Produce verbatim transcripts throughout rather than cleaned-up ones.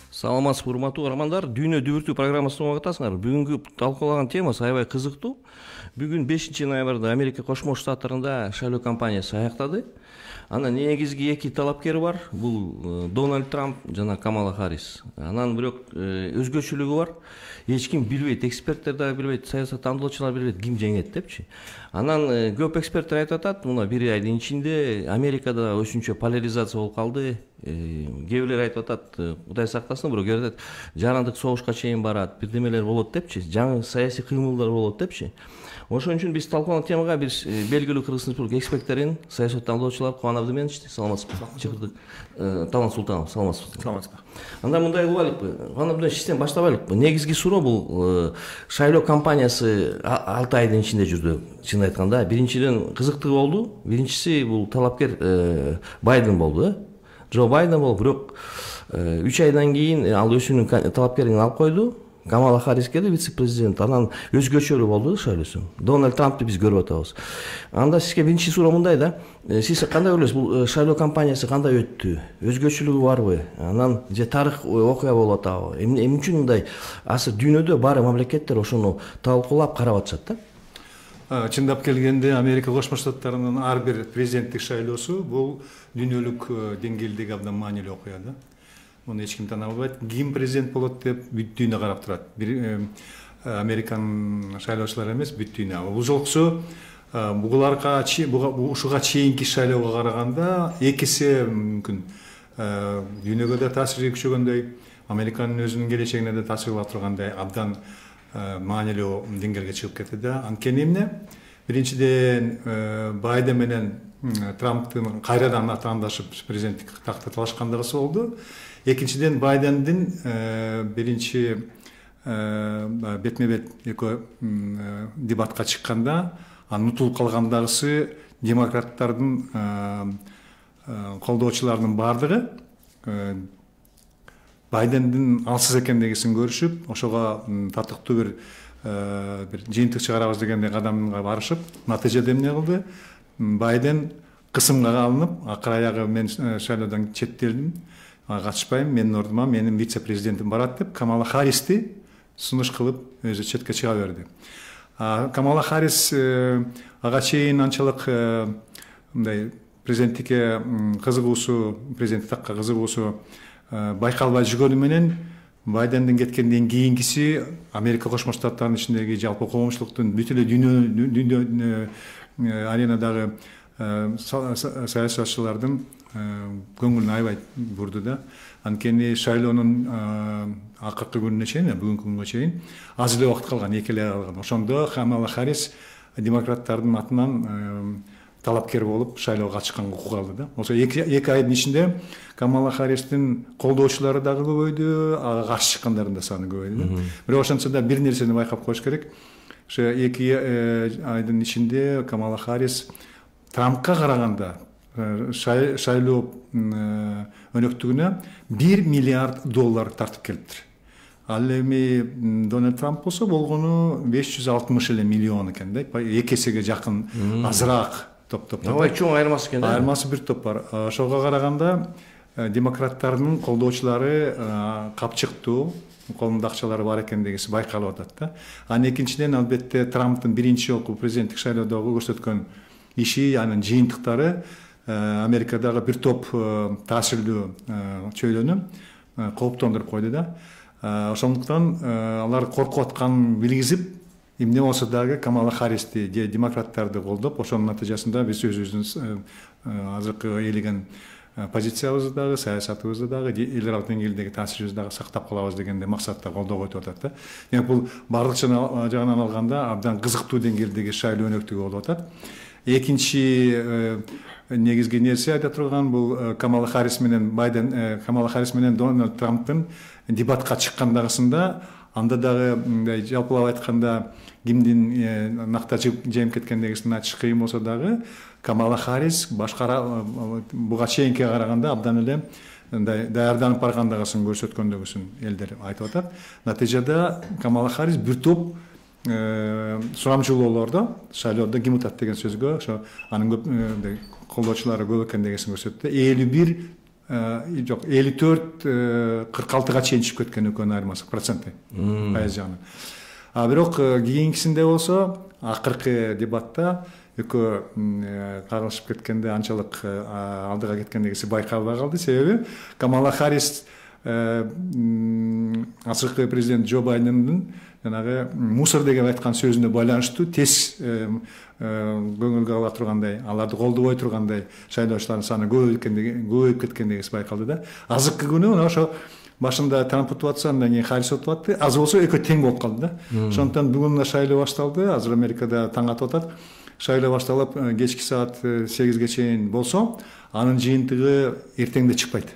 Саламатсызбы, урматтуу угармандар. Дүйнө дүбүртүү программасын угуп атасыңар. Бүгүнкү талкуулаган темасы аябай кызыктуу. Бүгүн бешинчи ноябрда Америка Кошмо Штаттарында шайлоо кампаниясы аяктады. Анан негизги эки талапкер бар. Бул Дональд Трамп жана Камала Харрис. Анан бирок өзгөчөлүгү бар. Эч ким билбейт, эксперттер да билбейт, саясаттандыруучулар билбейт ким жеңет депчи. Анан көп эксперттер айтып атат, мына бир айдын ичинде Америкада өзүнчө поляризация болуп калды. Кээ бирлер айтып атат, Кудай сактасын, бирок кээ айтат, жарандык согушка чейин барат, бирдемелер болот депчи, жаңы саясий кыймылдар болот депчи. Ошон үчүн биз талкуулаган темага бир белгилүү Кыргызстан Республика эксперттерин, саясаттандыруучулар Кубан Абдыменович, саламатсызбы? Чыкырдык Талант Султанов, саламатсызбы? Саламатсызбы. Анда мындай кылайлыкпы? Кубан Абдыменович, сизден баштабайлыкпы? Негизги суроо бул шайлоо кампаниясы алты айдын ичинде жүрдү. Чын айтканда, биринчиден кызыктуу болду. Биринчиси бул талапкер Байден болду, э? Джо Байден болуп, бирок үч айдан кийин ал өзүнүн талапкерин алып койду. Камала Харрис келди, вице-президент. Анан өзгөчөлүү болду шайлоосу. Дональд Трампты биз көрүп атабыз. Анда сизге биринчи суроо мындай да. Сиз кандай ойлойсуз, бул шайлоо кампаниясы кандай өттү? Өзгөчөлүгү барбы? Анан же тарых окуя болуп атабы? Эмне үчүн мындай? Азыр дүйнөдө баары мамлекеттер ошону талкуулап карап атышат да. Чындап келгенде Америка Кошмо Штаттарынын ар бир президенттик шайлоосу бул дүйнөлүк деңгээлдеги абдан маанилүү окуя да. Муну эч ким тана албайт. Ким президент болот деп бүт дүйнө карап турат. Бир Американ шайлоочулар эмес, бүт дүйнө. Бул жолкусу бугуларга, ушуга чейинки шайлоого караганда эки эсе мүмкүн дүйнөгө да таасири күчөгөндөй, Американын өзүнүн келечегине да таасир кыла тургандай абдан маанилүү деңгээлге чыгып кетти да. Анткени эмне? Биринчиден Байден менен Трамптын кайрадан атаандашып президенттик такты талашкандыгысы болду. Экинчиден Байдендин биринчи бетме-бет экөө дебатка чыкканда анын утулуп калгандагысы демократтардын колдоочуларынын баардыгы Байдендин алсыз экендигин көрүшүп, ошого татыктуу бир бир жыйынтык чыгарабыз дегендей кадамга барышып, натыйжада эмне кылды? Байден кысымга алынып, акыр аягы мен шайлоодон четтелдим, катышпайм, менин ордума менин вице-президентим барат деп Камала Харристи сунуш кылып өзү четке чыга берди. Камала Харрис ага чейин анчалык мындай президенттикке кызыгуусу, президенттик такка кызыгуусу байкалбай жүргөнү менен Байдендин кеткенден кийинкиси Америка Кошмо Штаттарынын ичиндеги жалпы коомчулуктун бүт эле дүйнө аренадагы саясатчылардын көңүлүн аябай бурду да. Анткени шайлоонун акыркы күнүнө чейин, бүгүнкү күнгө чейин аз эле убакыт калган, эки эле калган. Ошондо Камала Харрис демократтардын атынан талапкер болуп шайлоого катышканга укук алды да. Ошо эки айдын ичинде Камала Харристин колдоочулары дагы көбөйдү, ага каршы чыккандардын да саны көбөйдү да. Бирок ошентсе да бир нерсени байкап коюш керек. Ошо эки айдын ичинде Камала Харрис Трампка караганда шайлоо өнөктүгүнө бир миллиард доллар тартып келиптир. Ал эми Дональд Трамп болсо болгону беш жүз алтымыш эле миллион экен да. эки эсеге жакын азыраак топ-топ. Абай чоң айырмасы экен да. Айырмасы бир топ бар. Ошого караганда демократтардын колдоочулары капчыктуу, колунда акчалары бар экендигиси байкалып атат да. Анан экинчиден албетте Трамптын биринчи жолку президенттик шайлоодогу көрсөткөн иши, анын жыйынтыктары Америкадагы бир топ таасирлүү чөйрөнү кооптондуруп койду да. Ошондуктан алар коркуп атканын билгизип, эмне болсо дагы Камала Харристи же демократтарды колдоп, ошонун натыйжасында биз өзүбүздүн азыркы ээлеген позициябызды дагы, саясатыбызды дагы, эл аралык деңгээлдеги таасирибизди дагы сактап калабыз дегенде максатта колдоого өтүп атат да. Демек бул бардык жагынан алганда абдан кызыктуу деңгээлдеги шайлоо өнөктүгү болуп атат. Экинчи негизги нерсе айта турган бул Камала Харрис менен Байден, Камала Харрис менен Дональд Трамптын дебатка чыккандагысында, анда дагы мындай жалпылап айтканда кимдин накта жеңип кеткендигин айтыш кыйын болсо дагы Камала Харрис башкара буга чейинкиге караганда абдан эле мындай даярданып баргандыгын көрсөткөндүгүн элдер айтып атат. Натыйжада Камала Харрис бир топ сурамчылоолордо шайлоодо ким утат деген сөзгө ошо анын көп колдоочулары көп экендигин көрсөттү. элүү бир жок элүү төрт кырк алтыга чейин чыгып кеткен экөөнүн айырмасы проценти пайыз жагынан. А бирок кийинкисинде болсо акыркы дебатта экөө кагылышып кеткенде анчалык алдыга кеткендегиси байкалбай калды. Себеби Камала Харрис азыркы президент Джо Байдендин жанагы мусор деген айткан сөзүнө байланыштуу тез көңүлгө ала тургандай, аларды колдобой тургандай шайлоочулардын саны көбөйүп кеткендегиси байкалды да. Азыркы күнү ошо башында Трамп утуп атса, андан кийин Харрис утуп атты. Аз болсо экөө тең болуп калды да. Ошондуктан бүгүн шайлоо башталды. Азыр Америкада таң атып атат. Шайлоо башталып кечки саат сегизге чейин болсо, анын жыйынтыгы эртеңде чыкпайт.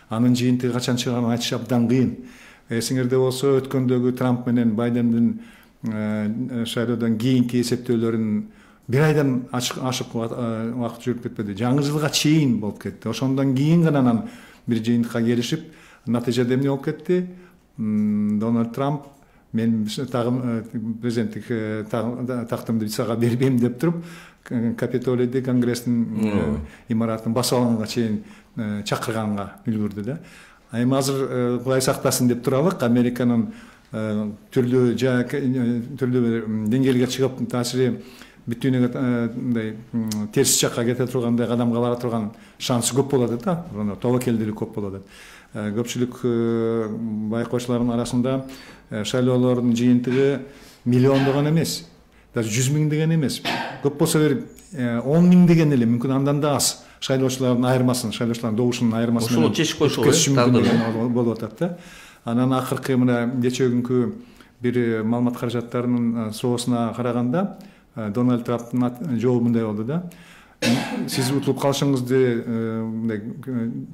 Анын жыйынтыгы качан чыганын айтыш абдан кыйын. Эсиңерде болсо, өткөндөгү Трамп менен Байдендин шайлоодон кийинки эсептөөлөрүн бир айдан ашык убакыт жүрүп кетпеди. Жаңы жылга чейин болуп кетти. Ошондон кийин гана анан бир жыйынтыкка келишип, натыйжада эмне болуп кетти? Дональд Трамп мен тагым президенттик тактымды сага бербейм деп туруп, Капитолийди, Конгресстин имаратын басып алганга чейин чакырганга үлгүрдү да. Эми азыр Кудай сактасын деп туралык, Американын түрлүү түрлүү деңгээлге чыгып таасири бүтүнүгө мындай терс жакка кете тургандай, кадамга бара турган шансы көп болот да, тобокелдүүлүк көп болот. Көпчүлүк байкоочулардын арасында шайлоолордун жыйынтыгы миллиондогон эмес, даже жүз миң деген эмес. Көп болсо бир он миң деген эле, мүмкүн андан да аз шайлоочулардын айырмасын, шайлоочулардын добушунун айырмасын ошол чечип койсо болуп атат да. Анан акыркы мына кечээ күнкү бир маалымат каражаттарынын соосуна караганда Дональд Трамптын жообу мындай болду да. Сиз утулуп калышыңызды мындай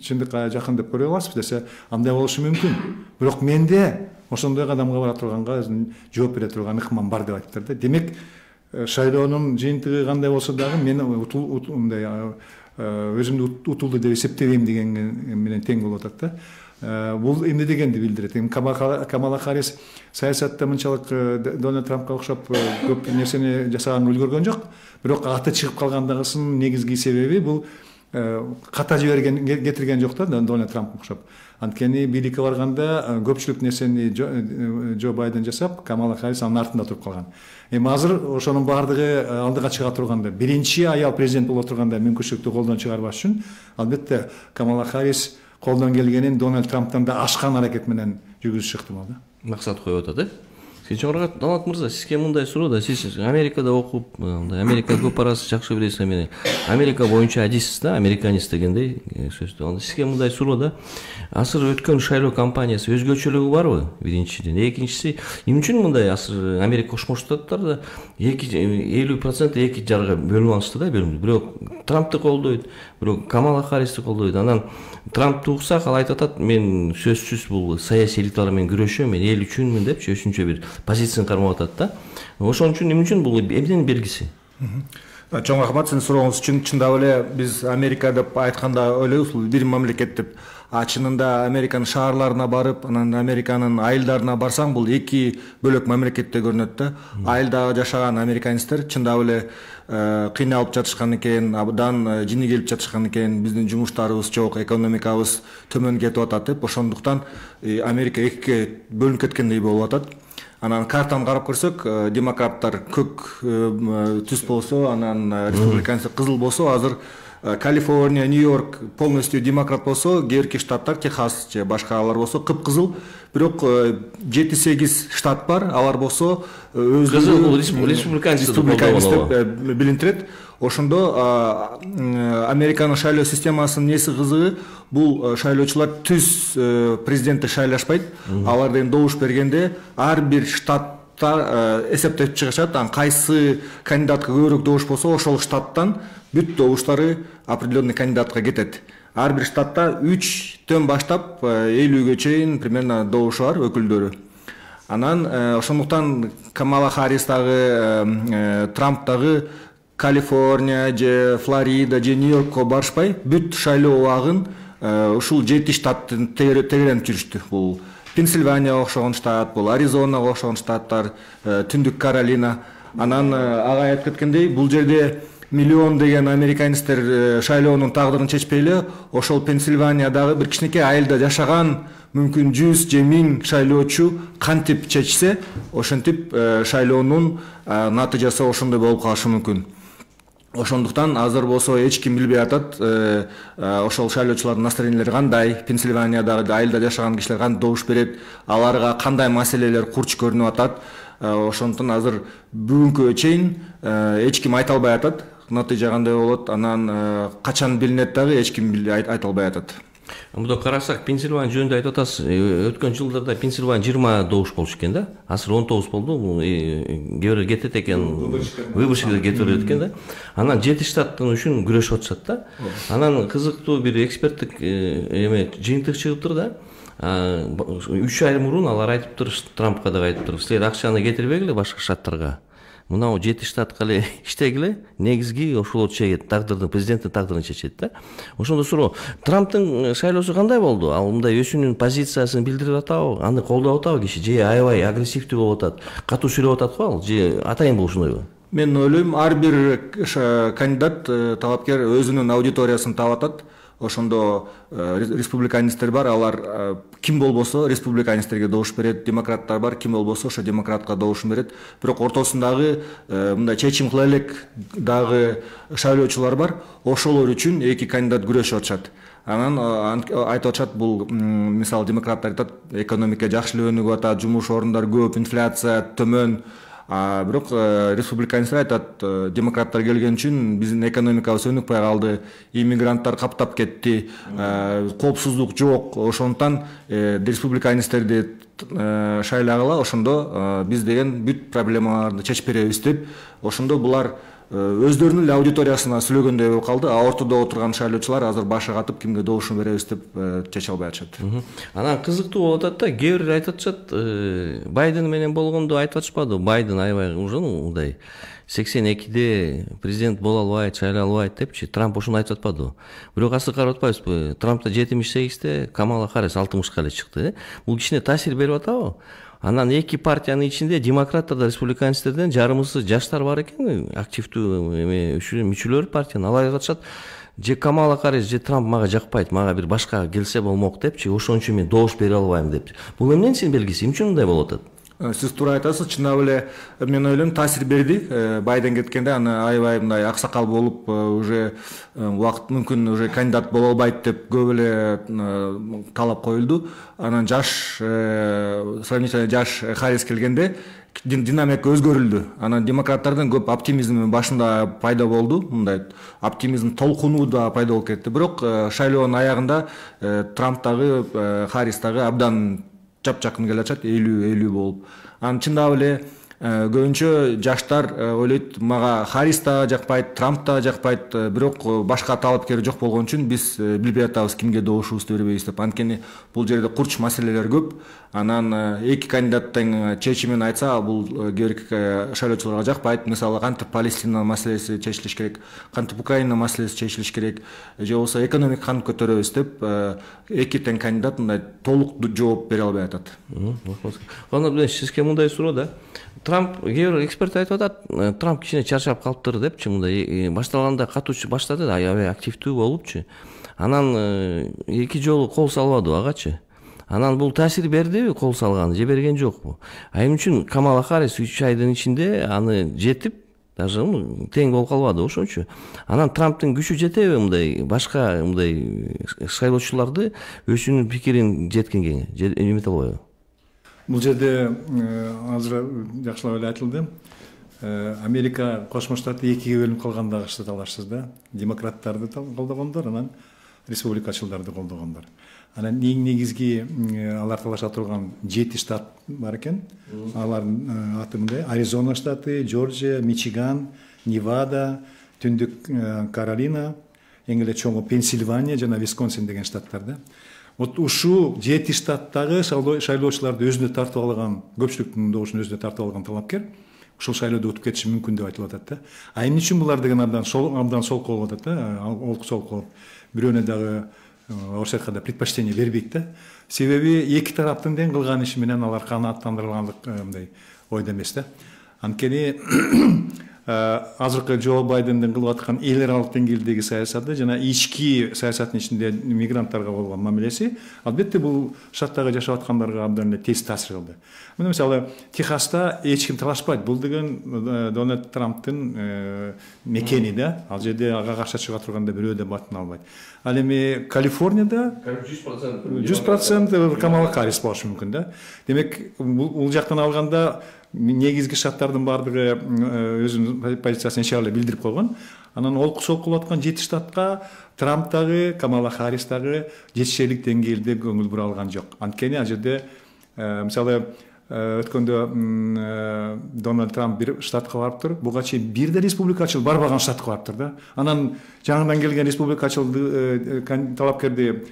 чындыкка жакын деп көрө аласызбы десе, андай болушу мүмкүн. Бирок менде ошондой кадамга бара турганга жооп бере турган ыкмам бар деп айтыптыр да. Демек, шайлоонун жыйынтыгы кандай болсо дагы мен мындай өзүмдү утулду деп эсептебейм деген менен тең болуп атат да. Бул эмне дегенди билдирет? Эми Камала Харрис саясатта мынчалык Дональд Трампка окшоп көп нерсени жасаганын үлгөргөн жок. Бирок аты чыгып калгандыгысынын негизги себеби бул ката жиберген кетирген жок да Дональд Трампка окшоп. Анткени бийликке барганда көпчүлүк нерсени Джо Байден жасап, Камала Харрис анын артында туруп калган. Эми азыр ошонун баардыгы алдыга чыга турганда, биринчи аял президент боло турганда мүмкүнчүлүктү колдон чыгарбаш үчүн, албетте Камала Харрис колдон келгенин Дональд Трамптан да ашкан аракет менен жүргүзүш ыктымал да. Максат коюп атат, э? Кечээ Дональд мырза, сизге мындай суроо да, сиз Америкада окуп, Америка көп арасы жакшы билесиз, эмне? Америка боюнча адисиз да, американист дегендей сөздү. Сизге мындай суроо да, азыр өткөн шайлоо кампаниясы өзгөчөлүгү барбы? Биринчиден, экинчиси, эмне үчүн мындай азыр Америка Кошмо Штаттарда элүү процент эки жарга бөлүнүп алышты да, бирок Трампты колдойт, бирок Камала Харристи колдойт. Анан Трампты уксак, ал айтып атат, мен сөзсүз бул саясий элиталар менен күрөшөм, мен эл үчүнмүн депчи, өзүнчө бир позицияны кармап атат да. Ошон үчүн эмне үчүн бул эмненин белгиси? Чоң рахмат сиздин сурооңуз үчүн. Чындап эле биз Америка деп айтканда ойлойбуз, бул бир мамлекет деп. А чынында Американын шаарларына барып, анан Американын айылдарына барсаң, бул эки бөлөк мамлекетте көрүнөт да. Айылда жашаган американецтер чындап эле кыйналып жатышкан экен, абдан жини келип жатышкан экен, биздин жумуштарыбыз жок, экономикабыз төмөн кетип атат деп, ошондуктан Америка экиге бөлүнүп кеткендей болуп атат. Анан картаны карап көрсөк, демократтар көк түс болсо, анан республиканецтер кызыл болсо, азыр Калифорния, Нью-Йорк полностью демократ болсо, кээрки штаттар, Техас же башкалар болсо кып-кызыл. Бирок жети сегиз штат бар, алар болсо өзү республиканецтер деп билинтирет. Ошондо Американын шайлоо системасынын неси кызыгы, бул шайлоочулар түз президентти шайлашпайт. Алар деген добуш бергенде ар бир штатта эсептеп чыгышат. Анан кайсы кандидатка көбүрөөк добуш болсо, ошол штаттан бүт добуштары определенный кандидатка кетет. Ар бир штатта үчтөн баштап элүүгө чейин примерно добушу бар өкүлдөрү. Анан ошондуктан Камала Харрис дагы, Трамп дагы Калифорния же Флорида же Нью-Йоркко барышпай, бүт шайлоо убагын ушул жети штаттын тегеренип жүрүштү. Бул Пенсильванияга окшогон штат, бул Аризонага окшогон штаттар, Түндүк Каролина. Анан ага айтып кеткендей, бул жерде миллион деген американецтер шайлоонун тагдырын чечпей эле ошол Пенсильваниядагы бир кичинекей айылда жашаган мүмкүн жүз же миң шайлоочу кантип чечсе ошентип шайлоонун натыйжасы ошондой болуп калышы мүмкүн. Ошондуктан азыр болсо эч ким билбей атат ошол шайлоочулардын настроениялери кандай, Пенсильваниядагы айылда жашаган кишилер кантип добуш берет, аларга кандай маселелер курч көрүнүп атат. Ошондуктан азыр бүгүнкү чейин эч ким айта албай атат натыйжа кандай болот, анан качан билинет дагы эч ким айта албай атат. Мында карасак, Пенсильвания жөнүндө айтып атасыз. Өткөн жылдарда Пенсильвания жыйырма добуш болчу экен да. Азыр он тогуз болду. Кээ бирөө кетет экен, выборщиктер кетип берет экен да. Анан жети штаттын үчүн күрөшүп атышат да. Анан кызыктуу бир эксперттик эме жыйынтык чыгыптыр да. үч ай мурун алар айтыптыр, Трампка да айтыптыр, силер акчаны кетирбегиле башка штаттарга. Мынау жети штатка эле иштегиле, негизги ошол чегет, тагдырдын, президенттин тагдырын чечет да. Ошондо суроо, Трамптын шайлоосу кандай болду? Ал мындай өзүнүн позициясын билдирип атабы, аны колдоп атабы киши, же аябай агрессивдүү болуп атат, катуу сүйлөп атат го ал, же атайын болушундайбы? Мен ойлойм, ар бир кандидат, талапкер өзүнүн аудиториясын таап атат. Ошондо республиканецтер бар, алар ким болбосо республиканецтерге добуш берет, демократтар бар, ким болбосо ошо демократка добушун берет. Бирок ортосундагы мындай чечим кыла элек дагы шайлоочулар бар. Ошолор үчүн эки кандидат күрөшүп атышат. Анан айтып атышат, бул мисалы демократтар айтат, экономика жакшы эле өнүгүп атат, жумуш орундары көп, инфляция төмөн. А бирок республиканецтер айтат, демократтар келген үчүн биздин экономикабыз өнүкпөй калды, иммигранттар каптап кетти, коопсуздук жок. Ошондуктан республиканецтерди шайлагыла, ошондо биз деген бүт проблемаларды чечип беребиз деп, ошондо булар өздөрүнүн эле аудиториясына сүйлөгөндөй болуп калды. А ортодо отурган шайлоочулар азыр башы катып кимге добушун беребиз деп чече албай атышат. Анан кызыктуу болуп атат да, кээ бирөө айтып атышат, Байден менен болгондо айтып атышпады, Байден аябай уже мындай сексен экиде президент боло албайт, шайлай албайт депчи, Трамп ошону айтып атпадыбы? Бирок азыр карап атпайбызбы? Трампта жетимиш сегизде, Камала Харрис алтымышка эле чыкты. Бул кичине таасир берип атабы? Анан эки партиянын ичинде демократтарда, республиканецтерден жарымысы жаштар бар экен, активдүү эме мүчөлөр партиянын. Алар айтышат, же Камала Харрис, же Трамп мага жакпайт, мага бир башка келсе болмок депчи, ошон үчүн мен добуш бере албайм депчи. Бул эмненин син белгиси? Эмне үчүн мындай болуп атат? Сиз туура айтасыз, чындап эле мен ойлойм таасир берди. Байден кеткенде аны аябай мындай аксакал болуп, уже убакыт мүмкүн уже кандидат боло албайт деп көп эле талап коюлду. Анан жаш, сравнительно жаш Харрис келгенде динамика өзгөрүлдү. Анан демократтардан көп оптимизм башында пайда болду, мындай оптимизм толкуну да пайда болуп кетти. Бирок шайлоонун аягында Трамп дагы, Харрис дагы абдан жап-жакын келе атышат, элүү элүү болуп. Анан чындап эле көбүнчө жаштар ойлойт, мага Харрис да жакпайт, Трамп да жакпайт, бирок башка талапкер жок болгон үчүн биз билбей атабыз кимге добушубузду бербейбиз деп. Анткени бул жерде курч маселелер көп. Анан эки кандидаттын чечимин айтса, бул кээ бир шайлоочуларга жакпайт. Мисалы, кантип Палестина маселеси чечилиш керек, кантип Украина маселеси чечилиш керек, же болбосо экономика кантип көтөрөбүз деп эки тең кандидат мындай толук жооп бере албай атат. Анан сизге мындай суроо да. Трамп, кээ бир эксперт айтып атат, Трамп кичине чарчап калыптыр депчи, мындай башталганда катуу баштады да, аябай активдүү болупчу. Анан эки жолу кол салбады агачы. Анан бул таасир бердиби кол салганы, же берген жокпу? А эмне үчүн Камала Харрис үч айдын ичинде аны жетип, даже тең болуп калбады ошончу. Анан Трамптын күчү жетеби мындай башка мындай шайлоочуларды өзүнүн пикирин жеткенге, эмете албайбы? Бул жерде азыр жакшылап эле айтылды. Америка Кошмо Штаты экиге бөлүнүп калгандагы штаттарсыз да. Демократтарды колдогондор, анан республикачылдарды колдогондор. Анан эң негизги алар талаша турган жети штат бар экен. Алардын аты мындай: Аризона штаты, Джорджия, Мичиган, Невада, Түндүк Каролина, эң эле чоңу Пенсильвания жана Висконсин деген штаттар да. Вот ушул жети штаттагы шайлоочуларды өзүнө тартып алган, көпчүлүктүн добушун өзүнө тартып алган талапкер ушул шайлоодо утуп кетиши мүмкүн деп айтылып атат да. А эмне үчүн булар деген абдан сол абдан солкол болуп атат да, олку солкол. Бирөөнө дагы орусча айтканда предпочтение бербейт да. Себеби эки тараптын тең кылган иши менен алар канааттандырылгандык мындай ойдо эмес да. Анткени азыркы Джо Байдендин кылып аткан эл аралык деңгээлдеги саясаты жана ички саясаттын ичинде мигранттарга болгон мамилеси албетте бул штаттагы жашап аткандарга абдан эле терс таасир кылды. Мына мисалы Техаста эч ким талашпайт. Бул деген Дональд Трамптын мекени да. Ал жерде ага каршы чыга турганда бирөө да батын албайт. Ал эми Калифорнияда жүз процент Камала Харрис болушу мүмкүн да. Демек бул жактан алганда негизги штаттардын баардыгы өзүнүн позициясын нече эле билдирип койгон. Анан олку солку болуп аткан жети штатка Трамп дагы, Камала Харрис дагы жетишерлик деңгээлде көңүл бура алган жок. Анткени ал жерде мисалы өткөндө Дональд Трамп бир штатка барыптыр. Буга чейин бир да республикачыл барбаган штатка барыптыр да. Анан жаңыдан келген республикачыл талапкерди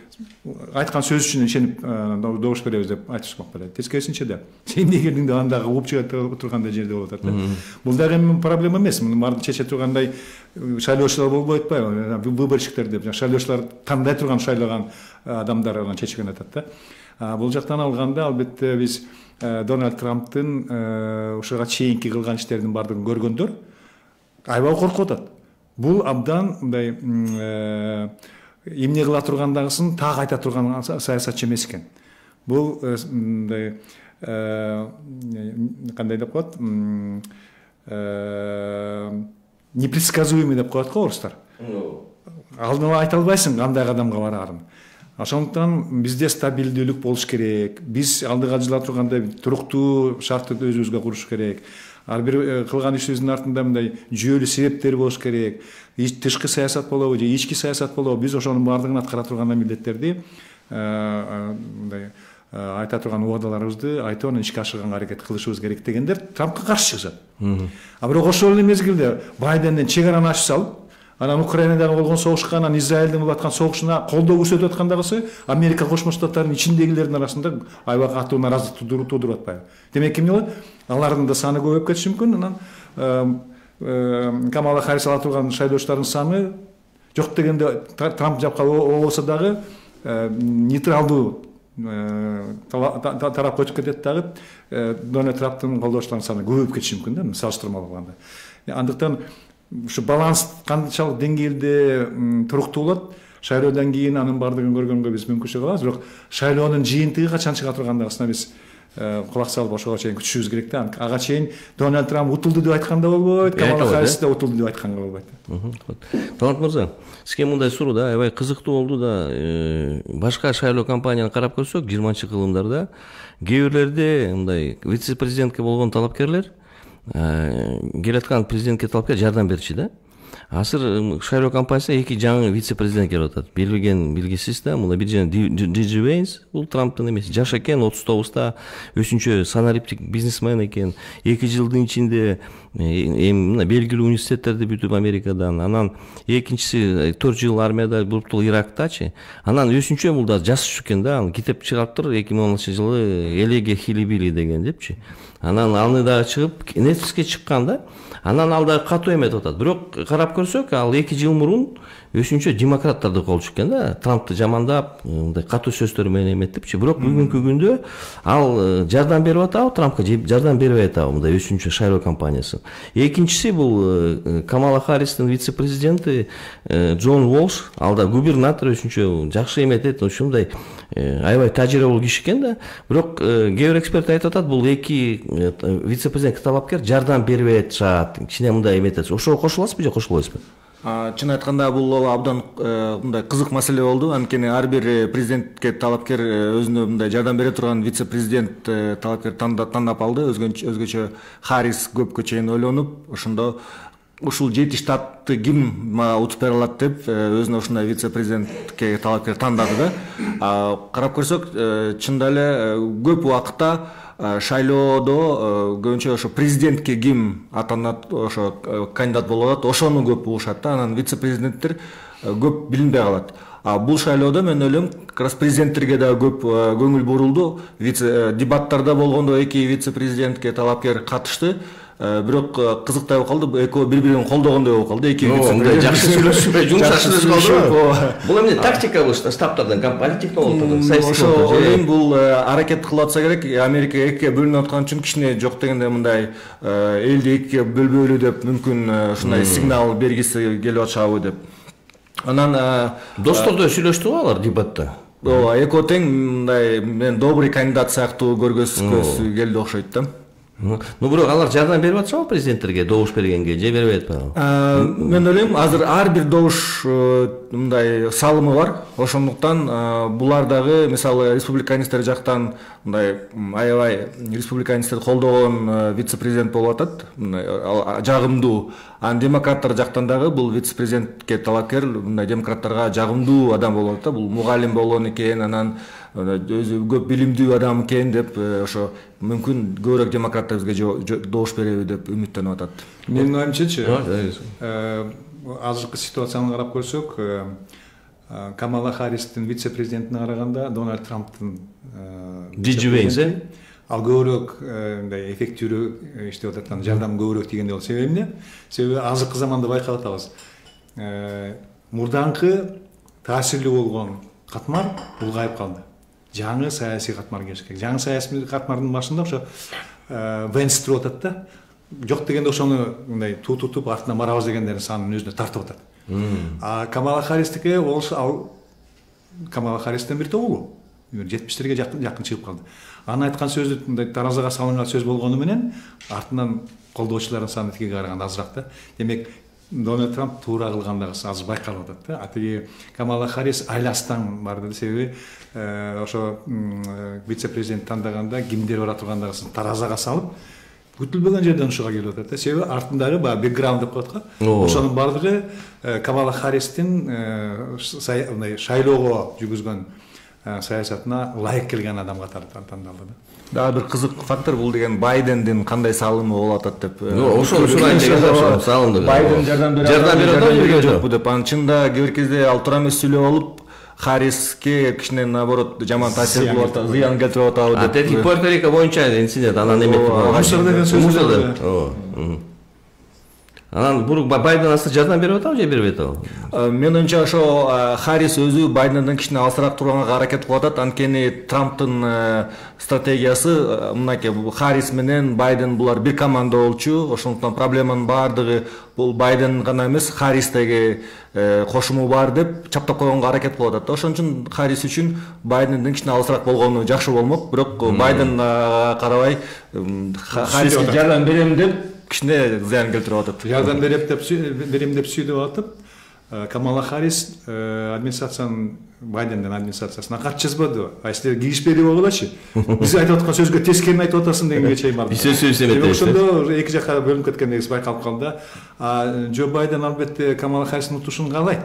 айткан сөз үчүн ишенип добуш беребиз деп айтышмак белет. Тескерисинче да. Сен дегендиң да андагы угуп чыга тургандай жерде болуп атат да. Бул дагы проблема эмес. Муну баарын чече тургандай шайлоочулар болбой атпайбы? Выборщиктер деп, шайлоочулар тандай турган шайлаган адамдар анан чечкен атат да. Бул жактан алганда албетте биз Дональд Трамптын ушуга чейинки кылган иштердин баардыгын көргөндөр аябай коркуп атат. Бул абдан мындай эмне кыла тургандагысын так айта турган саясатчы эмес экен. Бул мындай кандай деп коет? Непредсказуемый деп коет го орустар. Алдын ала айта албайсың кандай кадамга бараарын. Ошондуктан бизде стабилдүүлүк болуш керек. Биз алдыга жыла тургандай туруктуу шартты өзүбүзгө куруш керек. Ар бир кылган ишибиздин артында мындай жүйөлүү себептер болуш керек. Тышкы саясат болобу же ички саясат болобу, биз ошонун баардыгын аткара турган милдеттерди мындай айта турган убадаларыбызды айтып анан ишке ашырганга аракет кылышыбыз керек дегендер Трампка каршы чыгышат. А бирок ошол эле мезгилде Байденден чек араны ачып салып, анан Украинадагы болгон согушка, анан Израилдин болуп аткан согушуна колдоо көрсөтүп аткандагысы Америка Кошмо Штаттарынын ичиндегилердин арасында аябай катуу нааразычылык туудуруп атпайбы? Демек эмне болот? Алардын да саны көбөйүп кетиши мүмкүн. Анан Камала Харрис ала турган шайлоочулардын саны жок дегенде Трамп жакка болбосо дагы нейтралдуу тарапка өтүп кетет дагы Дональд Трамптын колдоочуларынын саны көбөйүп кетиши мүмкүн да, салыштырмалуу алганда. Андыктан ушу баланс канчалык деңгээлде туруктуу болот, шайлоодон кийин анын баардыгын көргөнгө биз мүмкүнчүлүк алабыз, бирок шайлоонун жыйынтыгы качан чыга тургандагысына биз кулак салып ошого чейин күтүшүбүз керек да. Ага чейин Дональд Трамп утулду деп айтканда болбойт, Камала Харрис да утулду деп айтканга болбойт. Талант мырза, сизге мындай суроо да, аябай кызыктуу болду да. Башка шайлоо кампанияны карап көрсөк, жыйырманчы кылымдарда кээ бирлерде мындай вице-президентке болгон талапкерлер келаткан президентке талапкер жардам берчү да. Азыр шайлоо кампаниясында эки жаңы вице-президент келип атат. Билген билгисиз да, мына бир жана Джиджи Вейнс, бул Трамптын эмес, жаш экен, отуз тогузда, өзүнчө санариптик бизнесмен экен. эки жылдын ичинде эми мына белгилүү университеттерди бүтүп Америкадан, анан экинчиси төрт жыл армияда буруптур Ирактачы. Анан өзүнчө бул да жаш экен да, аны китеп чыгарыптыр эки миң онунчу жылы Элеге Хилибили деген депчи. Анан аны да чыгып, Netflixке чыккан да. Анан ал да катуу эметип атат. Бирок карап көрсөк, ал эки жыл мурун өзүнчө демократтарды колчу экен да. Трампты жамандап, мындай катуу сөздөр менен эметтипчи. Бирок бүгүнкү күндө ал жардам берип атабы, Трампка жардам бербей атабы мындай өзүнчө шайлоо кампаниясы. Экинчиси бул Камала Харристин вице-президенти Джон Уолш, ал да губернатор өзүнчө жакшы эметет, ушундай аябай тажрыйбалуу киши экен да. Бирок кээ бир эксперт айтып атат, бул эки вице-президентке талапкер жардам бербей атышат, кичине мындай эметет. Ошого кошуласызбы же кошулбайсызбы? Чын айтканда бул абдан мындай кызык маселе болду. Анткени ар бир президентке талапкер өзүнө мындай жардам бере турган вице-президент талапкер тандап алды. Өзгөчө Харрис көпкө чейин ойлонуп, ошондо ушул жети штатты ким утуп бере алат деп өзүнө ушундай вице-президентке талапкер тандады да. Карап көрсөк, чында эле көп убакытта шайлоодо көбүнчө ошо президентке ким атанат, ошо кандидат болуп атат, ошону көп угушат да. Анан вице-президенттер көп билинбей калат. А бул шайлоодо мен ойлойм, как раз президенттерге да көп көңүл бурулду. Вице дебаттарда болгондо эки вице-президентке талапкер катышты. бирок кызыктай болуп калды, экөө бири бири колдогондой болуп калды. Эки мындай жакшы сүйлөшүп, жумшак калды. Бул эмне тактикалык штабтардан, политтехнологдордон, саясий ойлойм, бул аракет кылып атса керек. Америка экиге бөлүнүп аткан үчүн кичине жок дегенде мындай элди экиге бөлбөйлү деп мүмкүн ушундай сигнал бергиси келип атышабы деп. Анан достордой сүйлөштүбү алар дебатта? Ооба, экөө тең мындай мен добрый кандидат сыяктуу көргөзгүсү келди окшойт да. Ну бирок алар жардам берип атышабы президенттерге добуш бергенге, же бербей атпайбы? Мен ойлойм, азыр ар бир добуш мындай салымы бар. Ошондуктан булар дагы мисалы республиканисттер жактан мындай аябай республиканисттерди колдогон вице-президент болуп атат, жагымдуу. Анан демократтар жактан дагы бул вице-президентке талапкер мындай демократтарга жагымдуу адам болуп атат. Бул мугалим болгон экен, анан өзү көп билимдүү адам экен деп ошо мүмкүн көбүрөөк демократтар бизге добуш береби деп үмүттөнүп атат. Менин оюмчачы, азыркы ситуацияны карап көрсөк, Камала Харристин вице-президентине караганда Дональд Трамптын Вейнс ал көбүрөөк мындай эффективдүү иштеп атат, жардам көбүрөөк тийгендей болот. Себеби эмне? Себеби азыркы заманда байкап атабыз. Мурданкы таасирлүү болгон катмар улгайып калды. Жаңы саясий катмар келиш керек. Жаңы саясий катмардын башында ошо Венс туруп атат да. Жок дегенде ошону мындай тутутуп артынан барабыз дегендердин санын өзүнө тартып атат. А Камала Харристике ал Камала Харристин бир тобу жетимиштерге жакын чыгып калды. Анын айткан сөзү мындай таразага салынган сөз болгону менен артынан колдоочулардын саны тиги караганда азыраак да. Демек Дональд Трамп туура кылгандыгы азыр байкалып атат да. А тиги Камала Харрис айластан барды, себеби ошо вице-президент тандаганда кимдер бара тургандыгын таразага салып, күтүлбөгөн жерден ушуга келип атат да. Себеби артындагы баягы бэкграунд деп коет го. Ошонун бардыгы Камала Харристин мындай шайлоого жүргүзгөн саясатына ылайык келген адам катары тандалды да. Дагы бир кызык фактор бул деген Байдендин кандай салымы болуп атат деп. Ошону сурайын деген салымды. Байден жардам берип жардам берип жокпу деп. Анын чынында кээ бир кезде ал туура эмес сүйлөп алып, Харриске кичине наоборот жаман таасир кылып атат, зыян келтирип атабы деп. Тети Пуэрто-Рико боюнча инцидент анан эметти. Мусор деген сөз. Анан бурук Байден аса жардам берип атабы же бербей атабы? Мен оюмча ошо Харрис өзү Байденден кичине алысыраак турганга аракет кылып атат. Анткени Трамптын стратегиясы мынакей, Харрис менен Байден булар бир команда болчу. Ошондуктан проблеманын баардыгы бул Байден гана эмес, Харристеги кошуму бар деп чаптап койгонго аракет кылып атат. Ошон үчүн Харрис үчүн Байденден кичине алысыраак болгону жакшы болмок. Бирок Байден карабай Харриске жардам берем деп кичине зыян келтирип атат. Жардам берем деп берем деп сүйдүп атып, Камала Харрис администрациянын Байдендин администрациясына кат жазбады. А силер киришпей болгулачы. Биз айтып аткан сөзгө тескерин айтып атасың дегенге чейин барды. Биз сөз эметет. Ошондо эки жакка бөлүнүп кеткендеги байкалып калды. А Джо Байден албетте Камала Харристин утушун каалайт.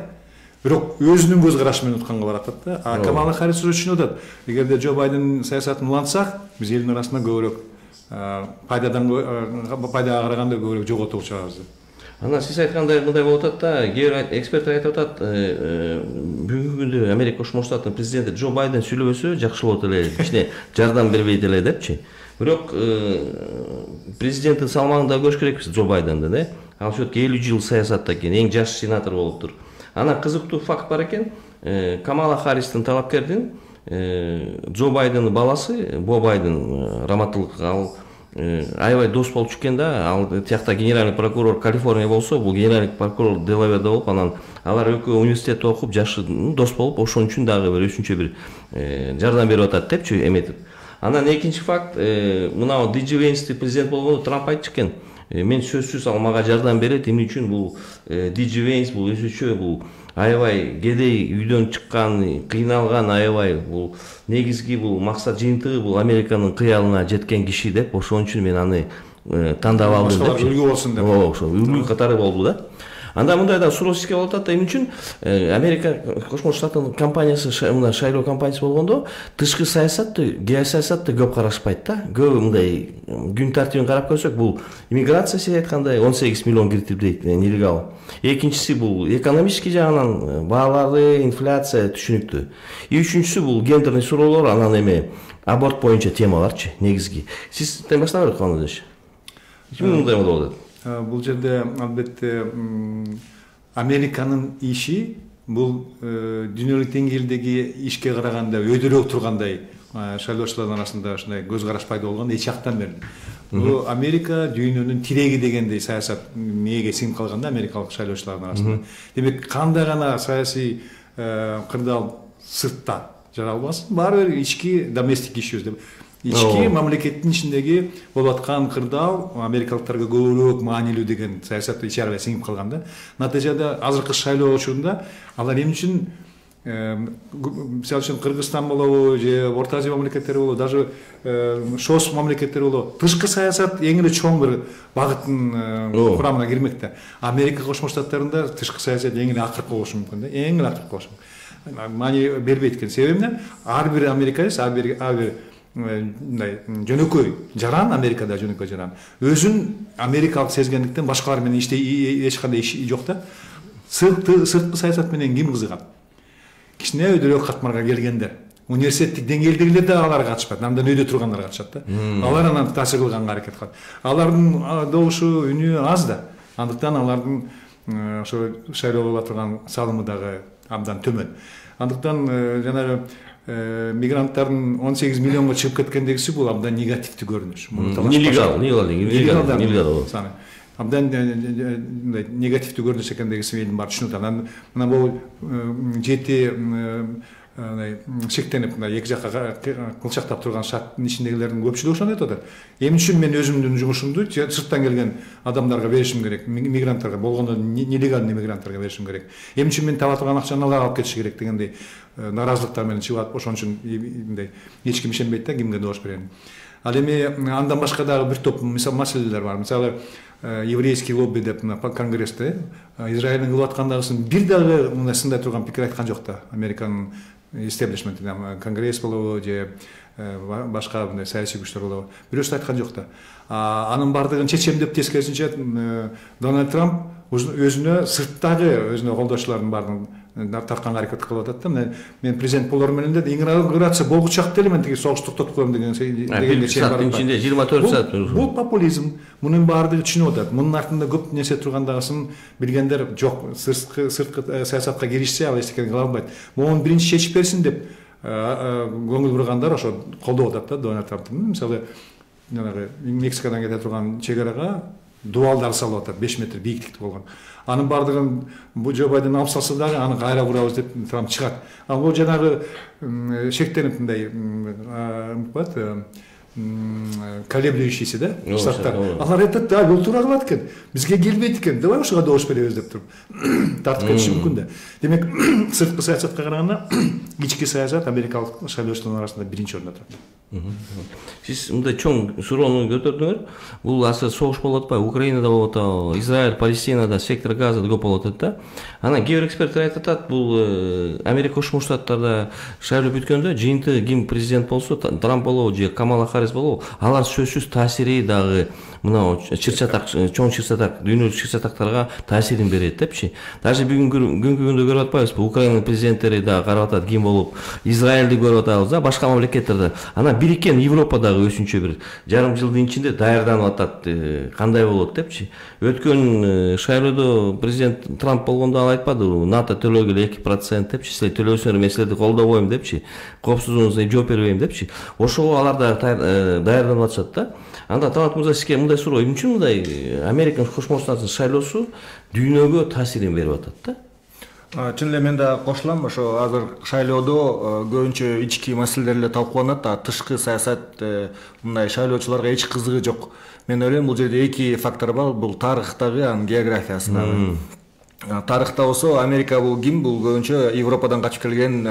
Бирок өзүнүн көз карашы менен утканга баратат да. А Камала Харрис түшүнүп атат. Эгерде Джо Байден саясатын улантсак, биз элдин арасында көбүрөөк пайдадан пайдага караганда көбүрөөк жоготуп чыгабыз деп. Анан сиз айткандай мындай болуп атат да, кээ бир эксперттер айтып атат, бүгүнкү күндө Америка Кошмо Штаттын президенти Джо Байден сүйлөбөсө жакшы болот эле, кичине жардам бербейт эле депчи. Бирок президенттин салмагында көрүш керекпиз Джо Байденди, да? Ал все-таки элүү жыл саясатта экен, эң жаш сенатор болуптур. Анан кызыктуу факт бар экен, Камала Харристин талапкердин Джо Байдендин баласы, Бо Байден, раматтылык ал аябай дос болуп чыккен да. Ал тиякта генеральный прокурор Калифорния болсо, бул генеральный прокурор Делаверде болуп, анан алар экөө университетте окуп, жашы дос болуп, ошон үчүн дагы бир өзүнчө бир жардам берип атат депчи эметип. Анан экинчи факт, мына Ди Джи Вейнсти президент болгондо Трамп айтчу экен, мен сөзсүз ал мага жардам берет, эмне үчүн бул Ди Джи Вейнс бул өзүчө бул аябай кедей үйдөн чыккан, кыйналган, аябай бул негизги бул максат жыйынтыгы бул Американын кыялына жеткен киши деп, ошон үчүн мен аны тандап алдым деп. Үлгү болсун деп. Ооба, ошо үлгү катары болду да. Анда мындай да суроске болуп атат да, эмне үчүн Америка Кошмо Штаттын компаниясы, мына шайлоо компаниясы болгондо тышкы саясатты, геосаясатты көп карашпайт да. Көп мындай күн тартибин карап көрсөк, бул иммиграция сиз айткандай он сегиз миллион киртип дейт, нелегал. Экинчиси бул экономический жагынан баалары, инфляция түшүнүктүү. И үчүнчүсү бул гендерный суроолор, анан эме аборт боюнча темаларчы негизги. Сиз баштап берип калыңыз. Ким мындай болуп атат? Бул жерде албетте Американын иши бул дүйнөлүк деңгээлдеги ишке караганда өйдөрөөк тургандай шайлоочулардын арасында ушундай көз караш пайда болгон эч жактан бери. Бул Америка дүйнөнүн тиреги дегендей саясат мээге сиңип калган да америкалык шайлоочулардын арасында. Демек кандай гана саясий кырдаал сыртта жаралбасын, баары бир ички доместик ишибиз деп. Ички мамлекеттин ичиндеги болуп аткан кырдаал америкалыктарга көбүрөөк маанилүү деген саясат ичи-арабия сиңип калган да. Натыйжада азыркы шайлоо учурунда алар эмне үчүн мисалы үчүн Кыргызстан болобу же Орто Азия мамлекеттери болобу, даже шос мамлекеттер болобу, тышкы саясат эң эле чоң бир багыттын курамына кирмек да. Америка Кошмо Штаттарында тышкы саясат эң эле акыркы болушу мүмкүн да, эң эле акыркы болушу мүмкүн. Маани бербейт экен. Себеби эмне? Ар бир американец, ар бир ар бир мындай жөнөкөй жаран, Америкада жөнөкөй жаран өзүн америкалык сезгендиктен башкалар менен эч кандай иши жок да. Сырткы саясат менен ким кызыгат? Кичине өйдөрөөк катмарга келгендер, университеттик деңгээлдегилер да аларга катышпайт, андан өйдө тургандар катышат да. Алар анан таасир кылганга аракет кылат. Алардын добушу, үнү аз да. Андыктан алардын ошо шайлоо болуп турган салымы дагы абдан төмөн. Андыктан жанагы мигранттардын он сегиз миллионго чыгып кеткендегиси бул абдан негативдүү көрүнүш. Нелегал, нелегал, нелегал. Абдан негативдүү көрүнүш экендигин элдин баары түшүнүп атат. Мына бул жети шектенип эки жакка кылчактап турган шарттын ичиндегилердин көпчүлүгү ошону айтып атат. Эмне үчүн мен өзүмдүн жумушумду сырттан келген адамдарга беришим керек, мигранттарга, болгондо нелегальный мигранттарга беришим керек. Эмне үчүн мен таба турган акчаны алар алып кетиши керек дегендей наразылыктар менен чыгып атып, ошон үчүн мындай эч ким ишенбейт да кимге добуш берерин. Ал эми андан башка дагы бир топ маселелер бар. Мисалы еврейский лобби деп конгрессте Израилдин кылып аткандагысын бир дагы мындай сындай турган пикир айткан жок да. Американын истеблишменти, конгресс болобу же башка мындай саясий күчтөр болобу, бирөөсү айткан жок да. Анын бардыгын чечем деп тескерисинче Дональд Трамп өзүнө сырттагы өзүнө колдоочулардын баарын тартканга аракет кылып атат да. Мен президент болор менен да инаугурация болгучак деле мен тиги согуш токтотуп коем деген дегенге чейин бар. Ичинде жыйырма төрт саат. Бул популизм. Мунун баардыгы түшүнүп атат. Мунун артында көп нерсе тургандыгын билгендер жок. Сырткы сырткы саясатка киришсе ал эч нерсе кыла албайт. Муну биринчи чечип берсин деп көңүл бургандар ошо колдоп атат да Дональд Трампты. Мисалы жанагы Мексикадан кете турган чек арага дуалдар салып атат, беш метр бийиктикте болгон. Анын бардыгын бул Джо Байден алып салса дагы аны кайра курабыз деп Трамп чыгат. Ал бул жанагы шектенип мындай коет колеблющийся да штаттар. Алар айтат да, бул туура кылат экен. Бизге келбейт экен. Давай ошого добуш беребиз деп туруп тартып кетиши мүмкүн да. Демек, сырткы саясатка караганда ички саясат америкалык шайлоочулардын арасында биринчи орунда турат. Сиз мындай чоң суроону көтөрдүңөр. Бул азыр согуш болуп атпайбы? Украинада болуп атабы? Израиль, Палестинада, сектор Газада көп болуп атат да. Анан кээ бир эксперттер айтып атат, бул Америка Кошмо Штаттарда шайлоо бүткөндө жыйынтыгы ким президент болсо, Трамп болобу же Камала Харрис болобу, алар сөзсүз таасири дагы мына чыр-чатак, чоң чыр-чатак, дүйнөлүк чыр-чатактарга таасирин берет депчи. Даже бүгүнкү күндө көрүп атпайбызбы? Украинанын президенттери дагы карап атат ким болуп, Израилди көрүп атабыз да, башка мамлекеттерде. Анан бириккен Европадагы өзүнчө бир жарым жылдын ичинде даярданып атат, кандай болот депчи. Өткөн шайлоодо президент Трамп болгондо ал айтпадыбы, НАТО төлөгүлө эки процент депчи, силер төлөсөңөр, мен силерди колдобойм депчи, коопсуздугуңузга жооп бербейм депчи. Ошого алар да даярданып атышат да. Анда Талант мырза, сизге мындай суроо, эмне үчүн мындай Америка Кошмо Штаттарынын шайлоосу дүйнөгө таасирин берип атат да? Чын эле мен да кошулам. Ошо азыр шайлоодо көбүнчө ички маселелер эле талкууланат, а тышкы саясат мындай шайлоочуларга эч кызыгы жок. Мен ойлойм, бул жерде эки фактор бар. Бул тарыхтагы, анын географиясындагы. Тарыхта болсо Америка бул ким? Бул көбүнчө Европадан качып келген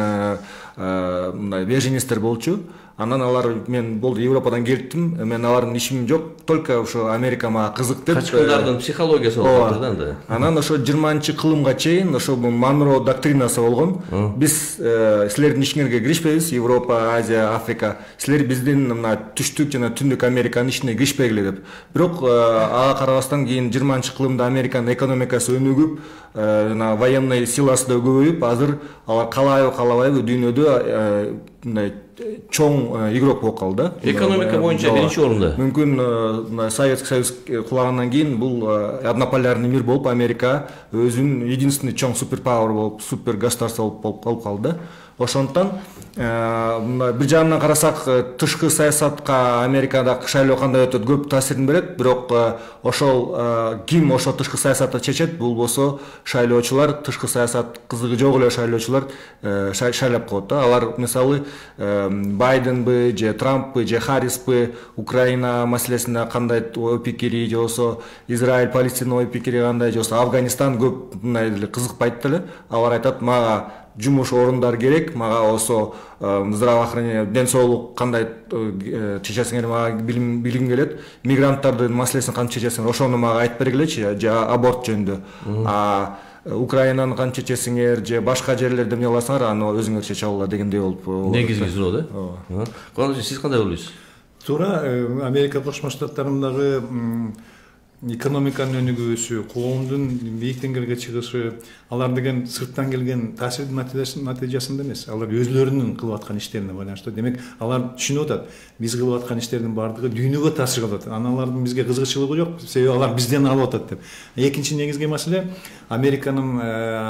мындай беженецтер болчу. Анан алар мен болду Европадан келиптим, мен алардын ишим жок, только ошо Америка мага кызык деп. Качкындардын психологиясы болуп атат да. Анан ошо жыйырманчы кылымга чейин ошо Монро доктринасы болгон. Биз силердин ишиңерге киришпейбиз, Европа, Азия, Африка. Силер биздин мына түштүк жана түндүк Американын ишине киришпегиле деп. Бирок ага карабастан кийин жыйырманчы кылымда Американын экономикасы өнүгүп, жана военный силасы да көбөйүп, азыр алар каалайбы каалабайбы дүйнөдө мындай чоң игрок болуп калды. Экономика боюнча биринчи орунда. Мүмкүн Советский Союз кулагандан кийин бул однополярный мир болуп Америка өзүнүн единственный чоң суперпауэр болуп, супер государство болуп болуп калды. Ошондон бир жагынан карасак тышкы саясатка Америкадагы шайлоо кандай өтөт көп таасирин берет, бирок ошол ким ошо тышкы саясатты чечет, бул болсо шайлоочулар, тышкы саясат кызыгы жок эле шайлоочулар шайлап коет да. Алар мисалы Байденби же Трамппы же Харриспи Украина маселесинде кандай ой пикири же болсо Израиль Палестина ой пикири кандай же болсо Афганистан көп мындай эле кызыкпайт деле. Алар айтат, мага жумуш орундар керек, мага осо здравоохранение, ден соолук кандай чечесиңер, мага билим билгим келет, мигранттардын маселесин кантип чечесиңер, ошону мага айтып бергилечи, же аборт жөнүндө. А Украинаны кантип чечесиңер же башка жерлерде эмне кыласыңар, аны өзүңөр чече алгыла дегендей болуп. Негизги суроо да. Ооба. Кандай сиз кандай ойлойсуз? Туура, Америка Кошмо Штаттарындагы экономиканын өнүгүүсү, коомдун бийик деңгээлге чыгышы, алар деген сырттан келген таасирдин натыйжасында эмес, алар өзлөрүнүн кылып аткан иштерине байланыштуу. Демек, алар түшүнүп атат, биз кылып аткан иштердин баардыгы дүйнөгө таасир кылып атат. Анан алардын бизге кызыгычылыгы жок, себеби алар бизден алып атат деп. Экинчи негизги маселе Американын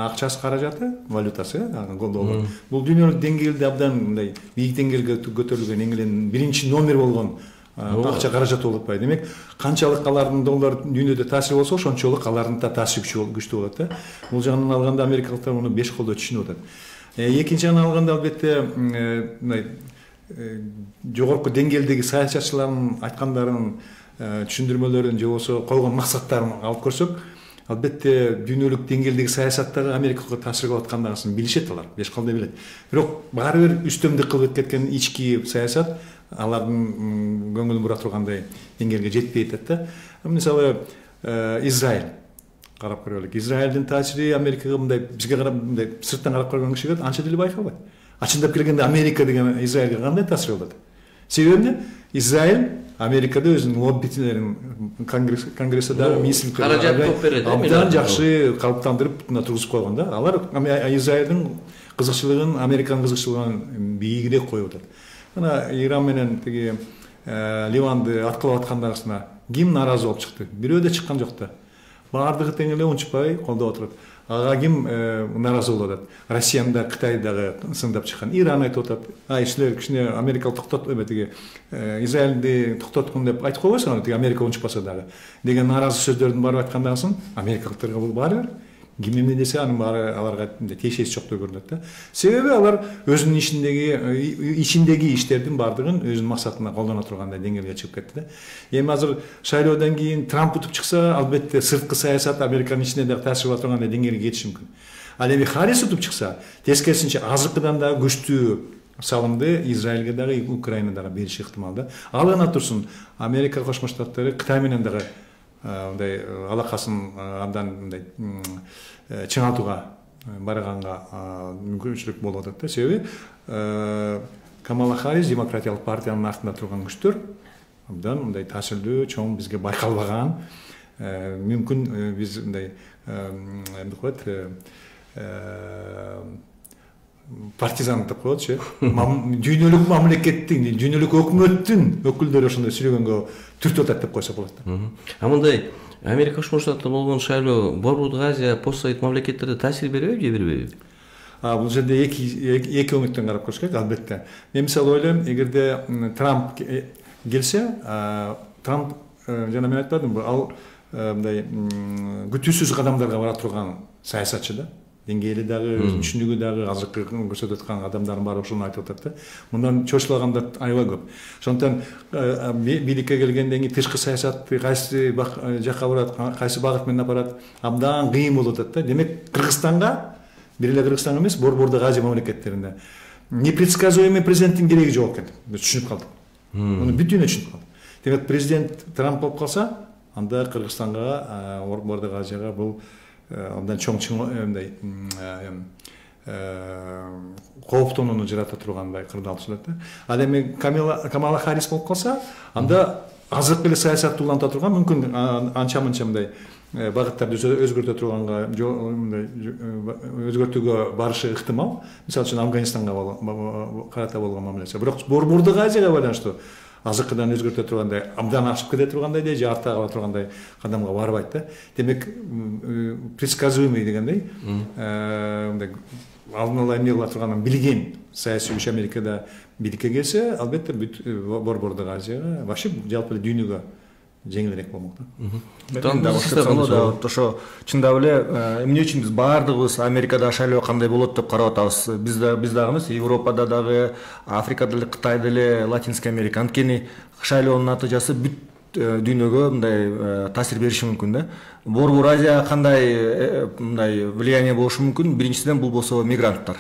акчасы, каражаты, валютасы, доллар. Бул дүйнөлүк деңгээлде абдан мындай бийик деңгээлге көтөрүлгөн, эң эле биринчи номер болгон акча каражат болуп атпайбы. Демек, канчалык алардын доллар дүйнөдө таасири болсо, ошончолук алардын да таасири күчтүү болот да. Бул жагынан алганда америкалыктар муну беш колдо түшүнүп атат. Экинчи жагынан алганда албетте мындай жогорку деңгээлдеги саясатчылардын айткандарын, түшүндүрмөлөрүн же болсо койгон максаттарын алып көрсөк, албетте дүйнөлүк деңгээлдеги саясаттагы Америкага таасир кылып аткандасын билишет алар, беш колдо билет. Бирок баары бир үстөмдүк кылып кеткен ички саясат алардын көңүлүн бура тургандай деңгээлге жетпей атат да. Мисалы Израиль карап көрөлүк. Израилдин таасири Америкага мындай бизге карап мындай сырттан карап көргөн кишиге анча деле байкалбайт. Ачындап келгенде Америка деген Израилге кандай таасир кылат? Себеби эмне? Израиль Америкада өзүнүн лоббитилерин конгрессте дагы министрликте каражат топ берет. Абдан жакшы калыптандырып тургузуп койгон да. Алар Израилдин кызыкчылыгын, Американын кызыкчылыгын бийигирээк коюп атат. Мына Иран менен тиги Ливанды аткылап аткандагысына ким нааразы болуп чыкты? Бирөө да чыккан жок да. Баардыгы тең эле унчукпай колдоп отурат. Ага ким нааразы болуп атат? Россиянын да, Кытай дагы сындап чыккан. Иран айтып атат. Ай, силер кичине Америкалык токтот, эме тиги Израилди токтоткун деп айтып койбойсуңар, тиги Америка унчукпаса дагы деген нааразы сөздөрдүн барып айткандагысын америкалыктарга бул баары бир ким эмне десе анын баары аларга тиешеси жок деп көрүнөт да. Себеби алар өзүнүн ичиндеги ичиндеги иштердин баардыгын өзүнүн максатына колдоно тургандай деңгээлге чыгып кетти да. Эми азыр шайлоодон кийин Трамп утуп чыкса, албетте сырткы саясат Американын ичине дагы таасир кыла тургандай деңгээлге жетиши мүмкүн. Ал эми Харрис утуп чыкса, тескерисинче азыркыдан дагы күчтүү салымды Израилге дагы, Украина дагы бериши ыктымал да. Ал гана турсун, Америка Кошмо Штаттары Кытай менен дагы мындай алакасын абдан мындай чыңалтууга барганга мүмкүнчүлүк болуп атат да. Себеби Камала Харрис демократиялык партиянын артында турган күчтөр абдан мындай таасирдүү, чоң, бизге байкалбаган, мүмкүн биз мындай эмне коет партизан деп коетчу, дүйнөлүк мамлекеттин, дүйнөлүк өкмөттүн өкүлдөрү ошондой сүрөгөнгө түртүп атат деп койсо болот да. А мындай Америка Кошмо Штаттарында болгон шайлоо Борбордук Азия, постсовет мамлекеттерде таасир бербейби же бербейби? А бул жерде эки эки өңүттөн карап көрүш керек, албетте. Мен мисалы ойлойм, эгерде Трамп келсе, Трамп жана мен айтпадымбы, ал мындай күтүүсүз кадамдарга бара турган саясатчы да. Деңгээли дагы, түшүнүгү дагы, азыркы көрсөтүп аткан адамдардын баары ошону айтып атат да. Мындан чочулагандар аябай көп. Ошондон бийликке келгенден кийин тышкы саясат кайсы жакка барат, кайсы багыт менен апарат, абдан кыйын болуп атат да. Демек, Кыргызстанга, бир эле Кыргызстан эмес, Борбордук Азия мамлекеттеринде непредсказуемый президенттин кереги жок экен. Биз түшүнүп калдык. Муну бүт дүйнө түшүнүп калды. Демек, президент Трамп болуп калса, анда Кыргызстанга, Борбордук Азияга бул абдан чоң мындай кооптонууну жарата тургандай кырдаал түшүнөт да. Ал эми Камала Харрис болуп калса, анда азыркы эле саясатты уланта турган, мүмкүн анча мынча мындай багыттарды өзгөртө турганга мындай өзгөртүүгө барышы ыктымал. Мисалы үчүн Афганистанга карата болгон мамилеси. Бирок Борбордук Азияга байланыштуу азыкыдан өзгөртө тургандай, абдан ашып кете тургандай же же артта кала тургандай кадамга барбайт да. Демек, предсказуемый дегендей, мындай алдын ала эмне кыла турганын билген саясий күч Америкада биликке келсе, албетте бүт Борбордук Азияга, вообще жалпы эле дүйнөгө жеңилирээк болмок да. Ошо чындап эле эмне үчүн биз баардыгыбыз Америкада шайлоо кандай болот деп карап атабыз. Биз да биз дагы эмес, Европада дагы, Африкада деле, Кытайда деле, Латинский Америка. Анткени шайлоонун натыйжасы бүт дүйнөгө мындай таасир бериши мүмкүн да. Борбор Азия кандай мындай влияние болушу мүмкүн? Биринчиден бул болсо мигранттар.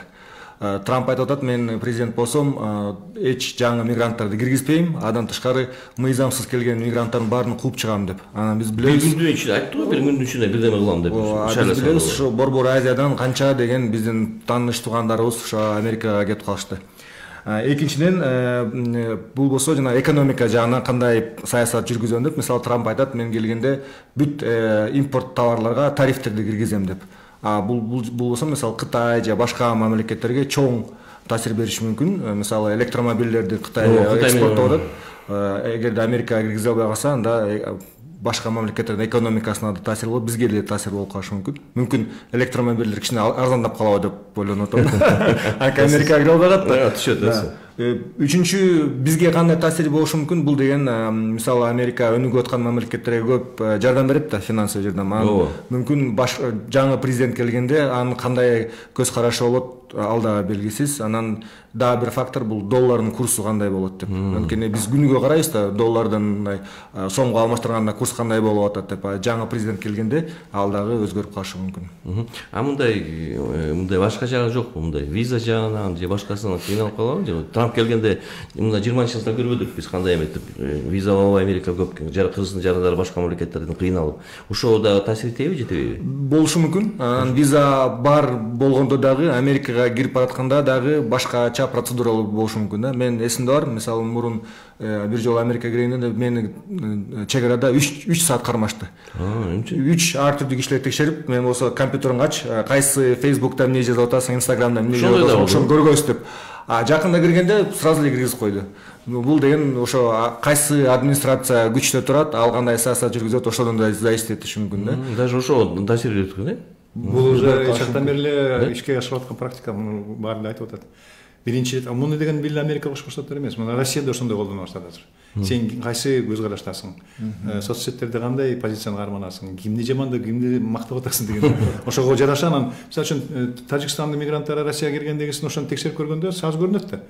Трамп айтып атат, мен президент болсом, эч жаңы мигранттарды киргизбейм, андан тышкары мыйзамсыз келген мигранттардын баарын кууп чыгам деп. Анан биз билебиз. Бир күндүн ичинде айтты го, бир күндүн ичинде бирдеме кылам деп. Биз билебиз, ушу Борбор Азиядан канча деген биздин тааныш туугандарыбыз ушу Америкага кетип калышты. Экинчиден, бул болсо жана экономика жагынан кандай саясат жүргүзөм деп. Мисалы, Трамп айтат, мен келгенде бүт импорт товарларга тарифтерди киргизем деп. Бул бул болсо, мисалы, Кытай же башка мамлекеттерге чоң таасир бериши мүмкүн. Мисалы, электромобилдерди Кытайга экспорттоп атат. Эгерде Америкага киргизе албай калса, анда башка мамлекеттердин экономикасына да таасир болот, бизге деле таасир болуп калышы мүмкүн. Мүмкүн электромобилдер кичине арзандап калабы деп ойлонуп атам. Анткени Америкага кире албай калат да. Түшөт. Үчүнчү, бизге кандай таасири болушу мүмкүн? Бул деген, мисалы, Америка өнүгүп аткан мамлекеттерге көп жардам берет да, финансылык жардам. Мүмкүн жаңы президент келгенде анын кандай көз карашы болот, ал да белгисиз. Анан дагы бир фактор бул доллардын курсу кандай болот деп. Анткени биз күнүгө карайбыз да, доллардын мындай сомго алмаштырганда курс кандай болуп атат деп. Жаңы президент келгенде ал дагы өзгөрүп калышы мүмкүн. А мындай мындай башка жагы жокпу? Мындай виза жагынан же башкасынан кыйналып калабы же? Трамп келгенде мына жыйырманчы жылда көрбөдүк биз кандай эметип виза албай Америка көп Кыргыздын жарандары башка мамлекеттерден кыйналып. Ошо да таасир этеби, жетеби? Болушу мүмкүн. Анан виза бар болгондо дагы Америкага кирип баратканда дагы башкача процедуралар болушу мүмкүн да. Мен эсимде бар, мисалы, мурун бир жолу Америкага киргенде мени чек арада үч саат кармашты. үч ар түрдүү кишилер текшерип, мен болсо компьютериңди ач, кайсы Facebook'та эмне жазып атасың, Instagram'да эмне жазып атасың, ошону көргөбүз деп. А жакында киргенде сразу эле киргизип койду. Бул деген ошо кайсы администрация күчтө турат, ал кандай саясат жүргүзөт, ошодон да зависит этиши мүмкүн да. Даже ошо таасир берет экен, э? Бул уже чактан бери эле ишке ашырып аткан практика, муну баары эле айтып атат. Биринчи рет, муну деген бир Америка Кошмо Штаттары эмес, мына Россияда ошондой колдоно баштады азыр. Сен кайсы көз караштасың? Соц сеттерде кандай позицияны карманасың? Кимди жамандап, кимди мактап атасың деген. Ошого жараша анан, мисалы үчүн, Тажикстандын мигранттары Россияга киргендегисин ошону текшерип көргөндө саз көрүнөт да.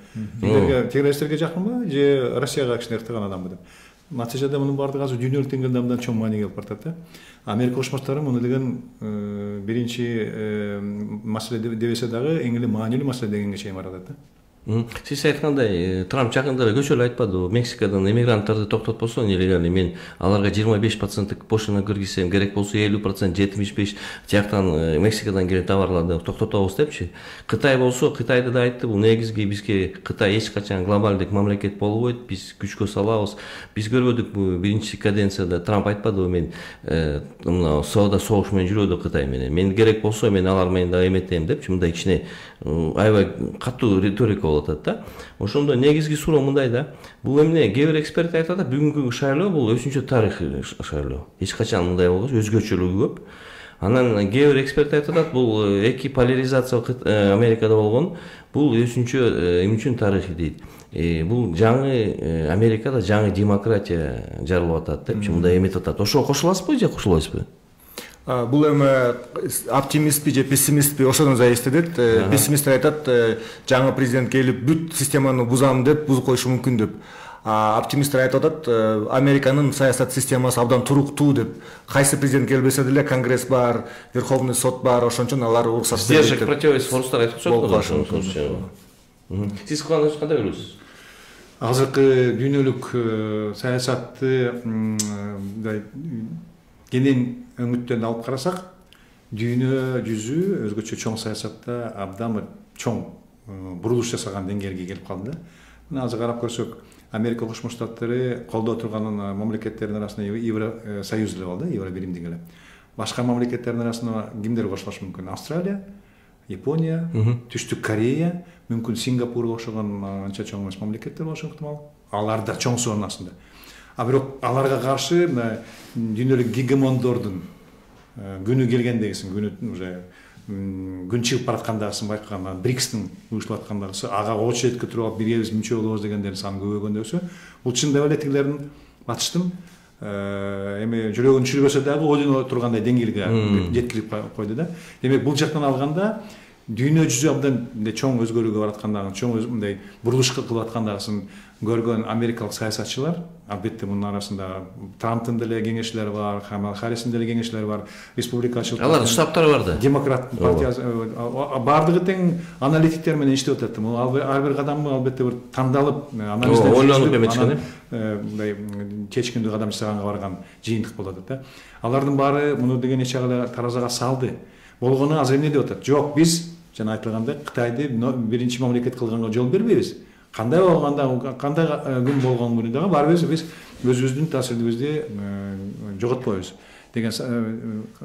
Билерге террористтерге жакынбы же Россияга кичине ыктаган адамбы деп. Натыйжада мунун баардыгы азыр дүйнөлүк деңгээлде абдан чоң мааниге алып баратат да. Америка Кошмо Штаттары муну деген биринчи маселе дебесе дагы эң эле маанилүү маселе дегенге чейин баратат да. Сиз айткандай, Трамп жакында эле көчөлү айтпадыбы? Мексикадан эмигранттарды токтотпосо, нелегальный мен аларга жыйырма беш проценттик пошлина киргизсем, керек болсо элүү процент, жетимиш беш жактан Мексикадан келген товарларды токтотобуз депчи. Кытай болсо, Кытайда да айтты, бул негизги бизге Кытай эч качан глобалдык мамлекет болбойт, биз күчкө салабыз. Биз көрбөдүк бу биринчи каденцияда Трамп айтпадыбы, мен мына соода согуш менен жүрөдү Кытай менен. Мен керек болсо мен алар менен да эметем депчи, мындай кичине аябай катуу риторика болуп атат да. Ошондо негизги суроо мындай да. Бул эмне? Кээ бир эксперт айтат да, бүгүнкү шайлоо бул өзүнчө тарыхый шайлоо. Эч качан мындай болгон, өзгөчөлүгү көп. Анан кээ бир эксперт айтат, бул эки поляризация Америкада болгон, бул өзүнчө эми үчүн тарыхый дейт. Бул жаңы Америкада жаңы демократия жаралып атат депчи, мындай эметип атат. Ошого кошуласызбы же кошулбайсызбы? Бул эми оптимистпи же пессимистпи ошодон зависит этет. Пессимисттер айтат, жаңы президент келип бүт системаны бузам деп, бузуп коюшу мүмкүн деп. Оптимисттер айтып атат, Американын саясат системасы абдан туруктуу деп. Кайсы президент келбесе деле Конгресс бар, Верховный сот бар, ошон үчүн алар уруксат берет. Сдержек противовес форстар айтып атышат. Сиз кандай көрөсүз? Азыркы дүйнөлүк саясатты мындай кенен өңүттөн алып карасак, дүйнө жүзү өзгөчө чоң саясатта абдан чоң бурулуш жасаган деңгээлге келип калды да. Мына азыр карап көрсөк, Америка Кошмо Штаттары колдоо турган мамлекеттердин арасында Евросоюз эле бар да, Евробиримдик эле. башка мамлекеттердин арасында кимдер кошулушу мүмкүн? Австралия, Япония, Түштүк Корея, мүмкүн Сингапурга окшогон анча чоң эмес мамлекеттер болушу ыктымал. Алар да чоң суунун астында. А бирок аларга каршы дүйнөлүк гегемондордун күнү келгендегисин, күнү уже күн чыгып бараткандагысын байкаган, брикстин уюштуруп аткандагысы, ага очередке туруп алып биргебиз мүчө болобуз дегендердин саны көбөйгөндөгүсү, бул чындап эле тигилердин батыштын эми жүрөгүн түшүрбөсө дагы ойлоно тургандай деңгээлге жеткирип койду да. Демек бул жактан алганда дүйнө жүзү абдан мындай чоң өзгөрүүгө бараткандыгын, чоң мындай бурулуш кылып аткандыгын көргөн америкалык саясатчылар, албетте мунун арасында Трамптын деле кеңешчилери бар, Камала Харристин деле кеңешчилери бар, республикачыл алар штабтары бар да. Демократ партиясы бардыгы тең аналитиктер менен иштеп атат. Ар бир кадамы албетте бир тандалып, анализдеп, ойлонуп эметчкен, мындай чечкиндүү кадам жасаганга барган жыйынтык болот да. Алардын баары муну деген эч жагы таразага салды. Болгону азыр эмне деп атат? Жок, биз жана айтылгандай Кытайды биринчи мамлекет кылганга жол бербейбиз. Кандай болгондо, кандай күн болгон күнү дагы барбыз, биз өзүбүздүн таасирибизди жоготпойбуз деген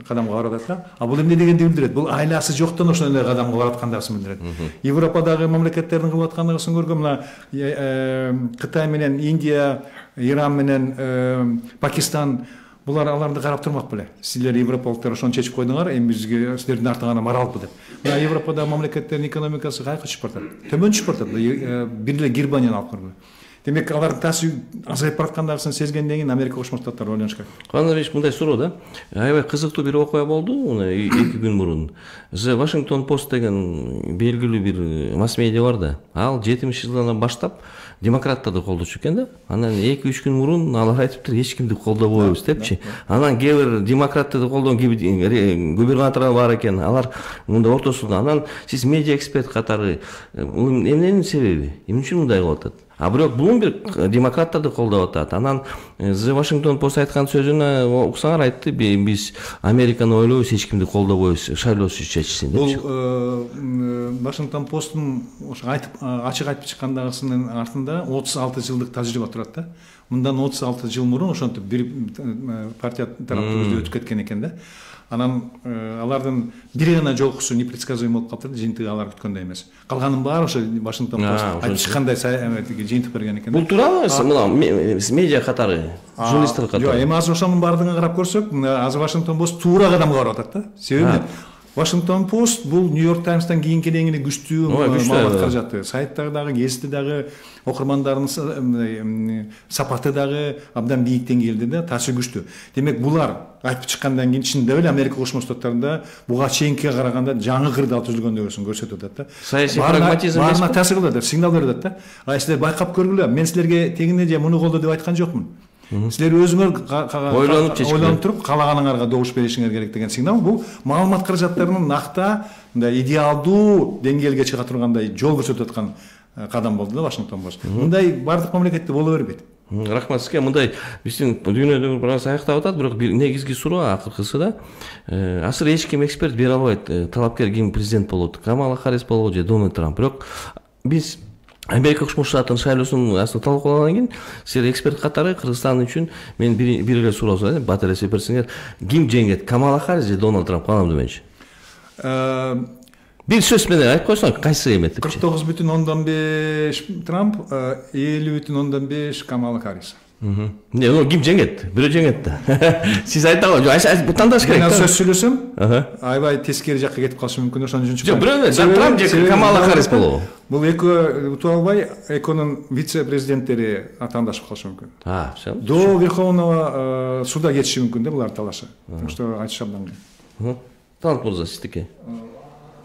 кадамга барып атат да. А бул эмне дегенди билдирет? Бул айласы жоктон ошондой кадамга барып аткандыгын билдирет. Европадагы мамлекеттердин кылып аткандыгын көргөн мына Кытай менен Индия, Иран менен Пакистан булар аларды карап турмак беле. Силер европалыктар ошону чечип койдуңар, эми бизге силердин артыңардан баралыппы деп. Мына Европадагы мамлекеттердин экономикасы кайка түшүп баратат. Төмөн түшүп баратат. Бир эле Германияны алып көргүлө. Демек алардын таасири азайып бараткандыгын сезгенден кийин Америка Кошмо Штаттары ойлонуш керек. Кандайбир мындай суроо да. Аябай кызыктуу бир окуя болду, мына эки күн мурун. The Washington Post деген белгилүү бир масс медиа бар да. Ал жетимиш жылдан баштап демократтарды колдочу экен да. Анан эки үч күн мурун алар айтыптыр, эч кимди колдобойбуз депчи. Анан кээ бир демократтарды колдогон губернаторлор бар экен. Алар мында ортосунда. Анан сиз медиа эксперт катары эмненин себеби? Эмне үчүн мындай кылып атат? А бирок Bloomberg демократтарды колдоп атат. Анан The Washington Post айткан сөзүнө уксаңар айтты, биз Американы ойлойбуз, эч кимди колдобойбуз, шайлоосуз чечсин депчи. Бул Washington Post'ун ошо айтып ачык айтып чыккандыгысынын артында отуз алты жылдык тажрыйба турат да. Мындан отуз алты жыл мурун ошентип бир партия тараптуу өтүп кеткен экен да. Анан алардын бир гана жолкусу непредсказуемый болуп калыптыр, жыйынтыгы алар күткөндөй эмес. Калганын баары ошо Washington Post айтып чыккандай жыйынтык берген экен. Бул туурабы? Мына медиа катары, журналисттер катары. Жок, эми азыр ошонун баардыгын карап көрсөк, азыр Washington Post туура кадамга барып атат да. Себеби Washington Post бул New York Times'тан кийинки эле күчтүү маалымат каражаты. Сайттары дагы, гезити дагы, окурмандардын сапаты дагы абдан бийик деңгээлде да, таасир күчтүү. Демек булар айтып чыккандан кийин чындап эле Америка Кошмо Штаттарында буга чейинкиге караганда жаңы кырдаал түзүлгөндөгүн көрсөтүп атат да. Саясий прагматизм баарына таасир кылып атат, сигнал берип атат да. А силер байкап көргүлө, мен силерге тегине же муну колдо деп айткан жокмун. Силер өзүңөр ойлонуп ойлонуп туруп каалаганыңарга добуш беришиңер керек деген сигнал. Бул маалымат каражаттарынын накта мындай идеалдуу деңгээлге чыга тургандай жол көрсөтүп аткан кадам болду да Washington Post. Мындай бардык мамлекетте боло бербейт. Рахмат сизге. Мындай биздин дүйнөдө бир аз аяктап атат, бирок бир негизги суроо акыркысы да. Азыр эч ким эксперт бере албайт. Талапкер ким президент болот? Камала Харрис болобу же Дональд Трамп? Бирок биз Америка Кошмо Штаттын шайлоосун аслында талкуулагандан кийин силер эксперт катары Кыргызстан үчүн мен бир эле суроо сурайм, батыр эсеп берсеңер, ким жеңет? Камала Харрис же Дональд Трамп? Кандай деменчи? Бир сөз менен айтып койсоң, кайсы эмет депчи? кырк тогуз бүтүн ондон беш Трамп, элүү бүтүн ондон беш Камала Харрис. Не, ну ким жеңет? Бирөө жеңет да. Сиз айта албайсыз. Бу тандаш керек. Мен сөз сүйлөсөм, аябай тескери жакка кетип калышы мүмкүн, ошон үчүн. Жок, бирөө Трамп же Камала Харрис болобу? Бул экөө утуп албай, экөөнүн вице-президенттери атаандашып калышы мүмкүн. А, все. До Верховного суда кетиши мүмкүн да булар талашы. Так что айтыш абдан кыйын. Талант мырза, сиздики.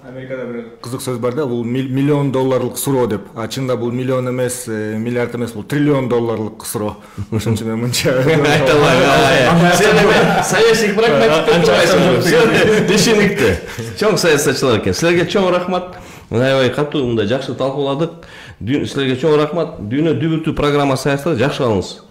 Америкада бир кызык сөз бар да, бул миллион долларлык суроо деп. А чында бул миллион эмес, миллиард эмес, бул триллион долларлык суроо. Ошон үчүн мен мынча айта албайм. Сен эме саясий прагматик турасың. Дешеникти. Чоң саясатчылар экен. Силерге чоң рахмат. Аябай катуу мындай жакшы талкууладык. Силерге чоң рахмат. Дүйнө дүбүртүү программасы аякталды. Жакшы калыңыз.